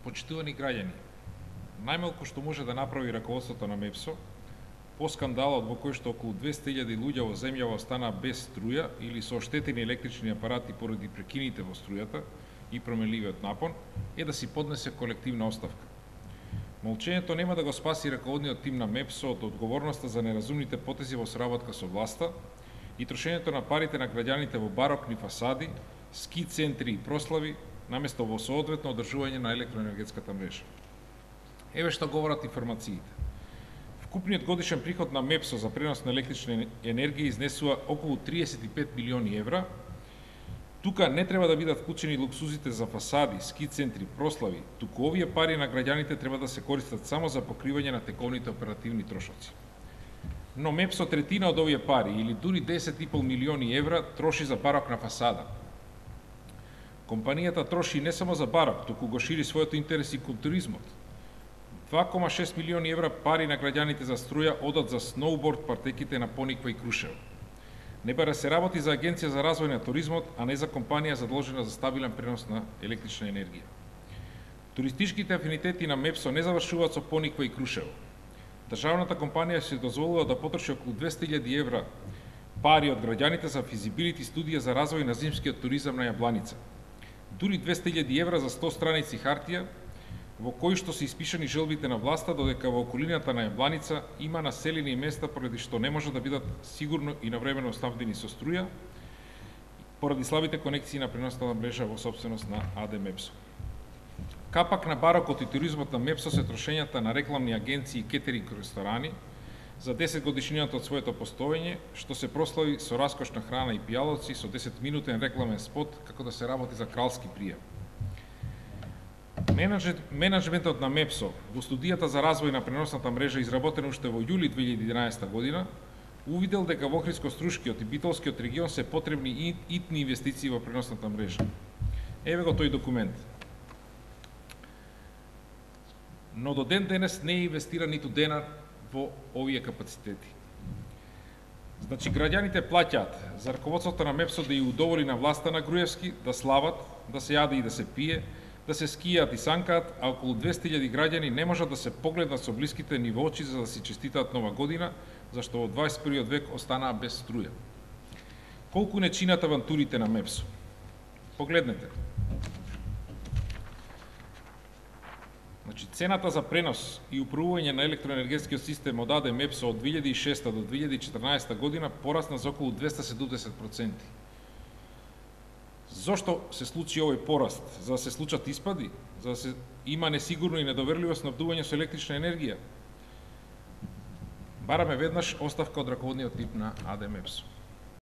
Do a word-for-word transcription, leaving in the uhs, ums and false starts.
Почитувани граѓани, најмалку што може да направи раководството на МЕПСО, по скандалот во кој што околу двесте илјади луѓе во земјава останаа без струја или со оштетени електрични апарати поради прекините во струјата и променливиот напон, е да си поднесе колективна оставка. Молчењето нема да го спаси раководниот тим на МЕПСО од одговорноста за неразумните потези во соработка со власта и трошењето на парите на граѓаните во барокни фасади, ски центри и прослави, наместо во соодветно одржување на електроенергетската мрежа. Еве што говорат информациите. Вкупниот годишен приход на МЕПСО за пренос на електрична енергија изнесува околу триесет и пет милиони евра. Тука не треба да бидат вклучени луксузите за фасади, ски центри, прослави, туку овие пари на граѓаните треба да се користат само за покривање на тековните оперативни трошоци. Но МЕПСО третина од овие пари, или дури десет и пол милиони евра, троши за барокна фасада. Компанијата троши не само за барок, туку го шири својот интерес и кон туризмот. два кома шест милиони евра пари на граѓаните за струја одат за сноуборд партеките на Пониква и Крушево. Не бара се работи за Агенција за развој на туризмот, а не за компанија задолжена за стабилен пренос на електрична енергија. Туристичките афинитети на МЕПСО не завршуваат со Пониква и Крушево. Државната компанија се дозволила да потроши околу двесте илјади евра пари од граѓаните за физибилити студија за развој на зимскиот туризам на Јабланица. Дури двесте илјади евра за сто страници хартија, во кои што се испишани желбите на власта, додека во околината на Јабланица има населени места поради што не може да бидат сигурно и навремено снабдени со струја, поради слабите конекции на преносната мрежа во собственост на АД МЕПСО. Капак на барокот и туризмот на МЕПСО се трошењата на рекламни агенции и кетеринг ресторани за десет годишнината од своето постоење, што се прослави со раскошна храна и пијалоци, со десет минутен рекламен спот како да се работи за кралски прием. Менаџментот на МЕПСО во студијата за развој на преносната мрежа, изработена уште во јули две илјади и единаесета година, увидел дека во Охридско-Струшкиот и Битолскиот регион се потребни итни инвестиции во преносната мрежа. Еве го тој документ. Но до ден денес не е инвестира ниту денар во овие капацитети. Значи, граѓаните плаќаат за раководството на МЕПСО да ја удоволи на власта на Груевски, да слават, да се јаде и да се пие, да се скијат и санкаат, а околу двесте илјади граѓани не можат да се погледнат со блиските ни во очи за да си честитаат нова година, зашто во дваесет и првиот век останаа без струја. Колку не чинат авантурите на МЕПСО? Погледнете. Значи, цената за пренос и управување на електроенергетскиот систем од АД МЕПСО од две илјади и шеста до две илјади и четрнаесета година порасна за околу двесте и седумдесет проценти. Зошто се случи овој пораст? За да се случат испади? За да се има несигурно и недоверливо снабдување со електрична енергија? Бараме веднаш оставка од раководниот тип на АД МЕПСО.